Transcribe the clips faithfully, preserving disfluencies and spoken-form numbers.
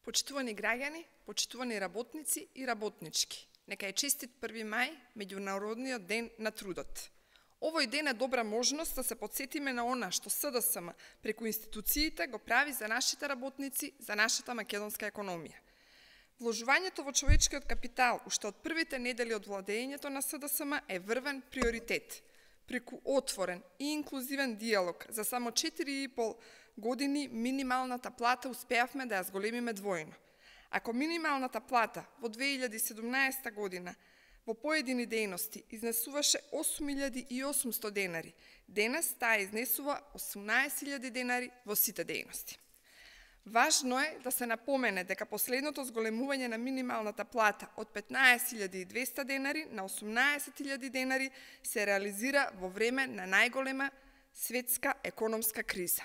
Почитувани граѓани, почитувани работници и работнички, нека е честит први мај, меѓународниот ден на трудот. Овој ден е добра можност да се потсетиме на она што СДСМ преку институциите го прави за нашите работници, за нашата македонска економија. Вложувањето во човечкиот капитал уште од првите недели од владењето на СДСМ е врвен приоритет. Преку отворен и инклузивен диалог за само четири и пол години минималната плата успеавме да ја зголемиме двојно. Ако минималната плата во две илјади и седумнаесета година во поедини дејности изнесуваше осум илјади и осумсто денари, денес таа изнесува осумнаесет илјади денари во сите дејности. Важно е да се напомене дека последното зголемување на минималната плата од петнаесет илјади и двесте денари на осумнаесет илјади денари се реализира во време на најголема светска економска криза.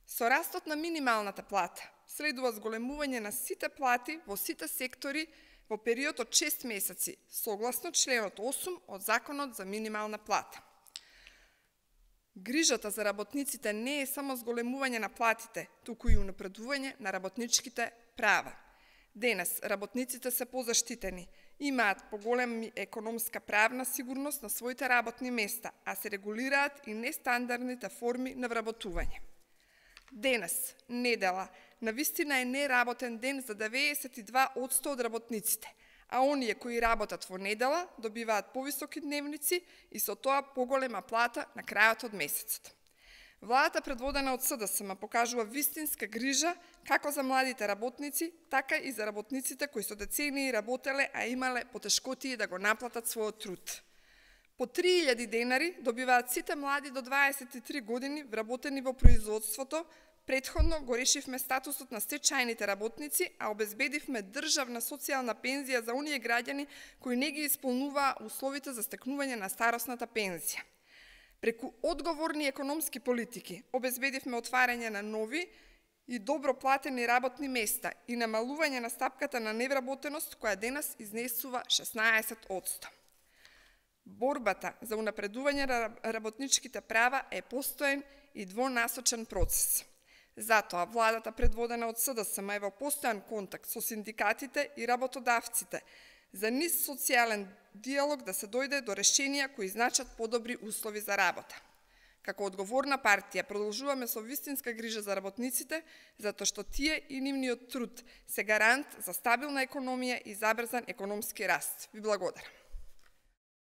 Со растот на минималната плата следува зголемување на сите плати во сите сектори во период од шест месеци, согласно членот осум од Законот за минимална плата. Грижата за работниците не е само зголемување на платите, туку и унапредување на работничките права. Денес работниците се позаштитени, имаат поголема економска правна сигурност на своите работни места, а се регулираат и нестандардните форми на вработување. Денес, недела, навистина е неработен ден за деветдесет и два одсто од работниците, а оние кои работат во недела добиваат повисоки дневници и со тоа поголема плата на крајот од месецот. Владата предводена од СДСМ покажува вистинска грижа како за младите работници, така и за работниците кои со децении работеле, а имале потешкотии да го наплатат својот труд. По три илјади денари добиваат сите млади до дваесет и три години вработени во производството. Претходно го решивме статусот на стечајните работници, а обезбедивме државна социјална пензија за оние граѓани кои не ги исполнуваа условите за стекнување на старосната пензија. Преку одговорни економски политики обезбедивме отварање на нови и добро платени работни места и намалување на стапката на невработеност која денес изнесува шеснаесет одсто. Борбата за унапредување на работничките права е постоен и двонасочен процес. Затоа владата предводена од СДСМ е во постојан контакт со синдикатите и работодавците за низ социјален диалог да се дојде до решенија кои значат подобри услови за работа. Како одговорна партија продолжуваме со вистинска грижа за работниците, затоа што тие и нивниот труд се гарант за стабилна економија и забрзан економски раст. Ви благодарам.